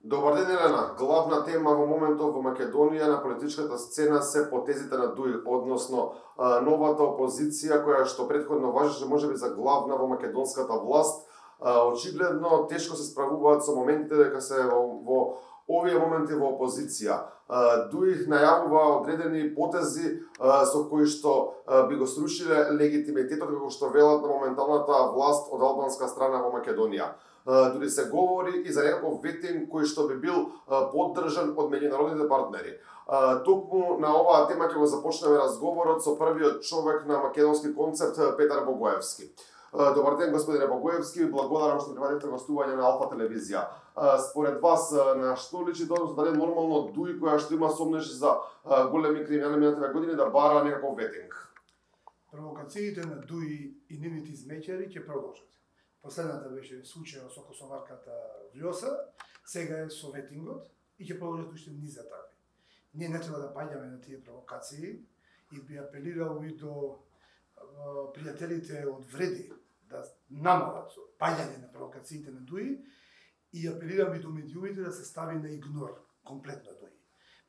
Добар ден, Елена. Главна тема во моментов во Македонија на политичката сцена се потезите на Дуи, односно новата опозиција која што претходно важеше можеби за главна во македонската власт. Очигледно тешко се справуваат со моментите дека се во овие моменти во опозиција. Дуи најавува одредени потези со кои што би го срушиле легитимитетот како што велат на моменталната власт од албанска страна во Македонија. Дури се говори и за некаков ветинг кој што би бил поддржан од меѓународните партнери. Токму на оваа тема ќе го започнеме разговорот со првиот човек на македонски концепт Петар Богоевски. Добар ден, господине Богоевски, благодарам што прифативте гостување на Алфа телевизија. Според вас, на што личи тоа, дали нормално Дуи која што има сомнежи за големи криминални минативе години да бара некаков ветинг? Провокациите на Дуи и нивните измеќари ќе продолжат. Последната беше случајот со косоварката Вјоса, сега е со ветингот и ќе продолжат уште низ за такви. Ние не треба да паѓаме на тие провокации и би апелирал и до пријателите од Вреди да намалат со паѓање на провокациите на Дуи и апелирам и до медиумите да се стави на игнор комплетно Дуи.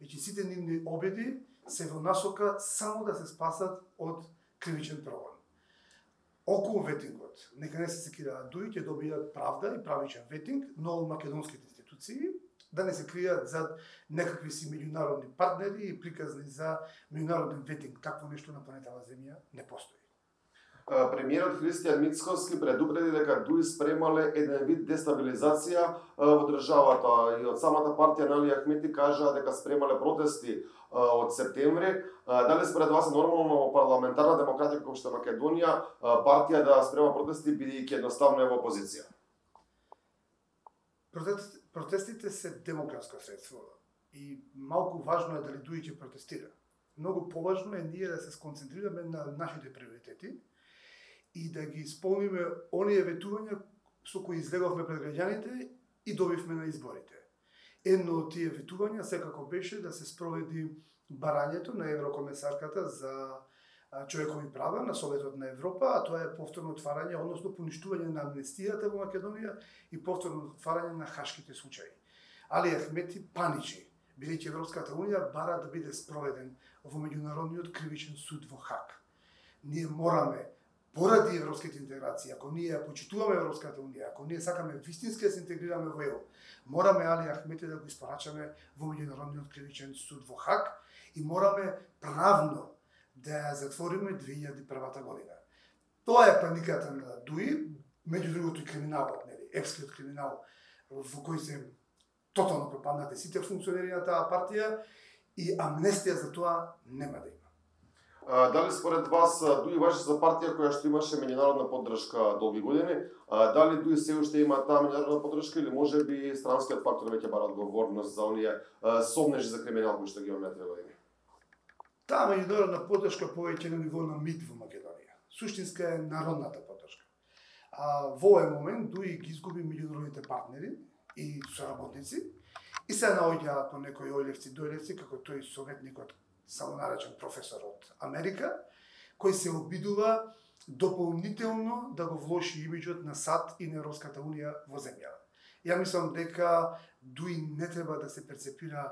Веќе сите нивни обеди се во насока само да се спасат од кривичен прогон. Околу ветингот, нека не се секираат Дуи, ќе добијат правда и правичен ветинг, но од македонските институции, да не се кријат за некакви си меѓународни партнери и приказни за меѓународен ветинг. Такво нешто на планетава Земја не постои. Премиерот Христијан Мицкоски предупреди дека Дуи спремале еден вид дестабилизација во државата и од самата партија на Али Ахмети кажаа дека спремале протести од септември. Дали според вас е нормално во парламентарна демократија како што Македонија партија да спрема протести бидејќи едноставно е во опозиција? Протестите се демократско средство и малку важно е дали Дуи ќе протестира. Многу поважно е ние да се сконцентрираме на нашите приоритети и да ги исполниме оние ветувања со кои излеговме пред граѓаните и добивме на изборите. Едно од тие ветувања секако беше да се спроведи барањето на еврокомесарката за човекови права на Советот на Европа, а тоа е повторно отварање, односно поништување на амнестијата во Македонија и повторно отварање на хашките случаи. Али Ахмети паничи, бидејќи Европската унија бара да биде спроведен во меѓународниот кривичен суд во Хаг. Ние мораме поради европските интеграции, ако ние почитуваме Европската унија, ако ние сакаме вистински да се интегрираме во ЕУ, мораме Али Ахмети да го испорачаме во меѓународниот кривичен суд во Хаг и мораме правно да ја затвориме 2001 година. Тоа е паниката на Дуи, меѓу другото и криминалот, епскиот криминал во кој се тотално пропаднати сите функционери на таа партија и амнестија за тоа нема да има. Дали според вас Дуи важи за партија која што имаше меѓународна поддршка долги години? Дали Дуи се уште има таа меѓународна поддршка или можеби странскиот фактор веќе бара одговорност за оние сомнежи за криминал кои што ги имаме тие години? Таа меѓународна поддршка повеќе на ниво на МИД во Македонија. Суштинска е народната поддршка. Во овој момент Дуи ги изгуби меѓународните партнери и соработници и се наоѓаат по некои ојлевци-дојлевци, како тој советникот самонаречен професор од Америка, кој се обидува дополнително да го влоши имиџот на САД и на Европската унија во земјава. Ја мислам дека Дуи не треба да се перцепира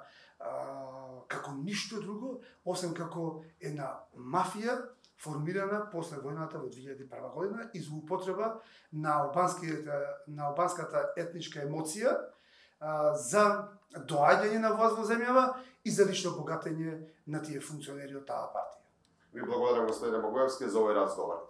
како ништо друго, освен како една мафија формирана после војната во 2001 година и злоупотреба на албанската етничка емоција за доаѓање на власт во земјава и за лично богатење на тие функционери од таа партија. Ви благодарам, господине Богоевски, за овој разговор.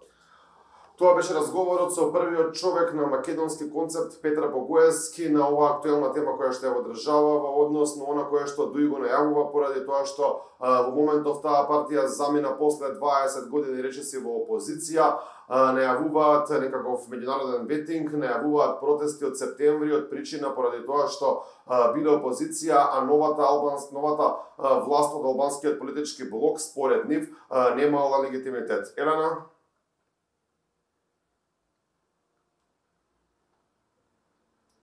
Тоа беше разговорот со првиот човек на македонски концепт Петар Богоевски на оваа актуелна тема која што е во државава, односно она која што Дуи го најавува поради тоа што во моментов таа партија замина после 20 години речиси во опозиција, најавуваат некаков меѓународен ветинг, најавуваат протести од септември од причина поради тоа што биле опозиција, а новата власт од албанскиот политички блок според нив немала легитимитет. Елена?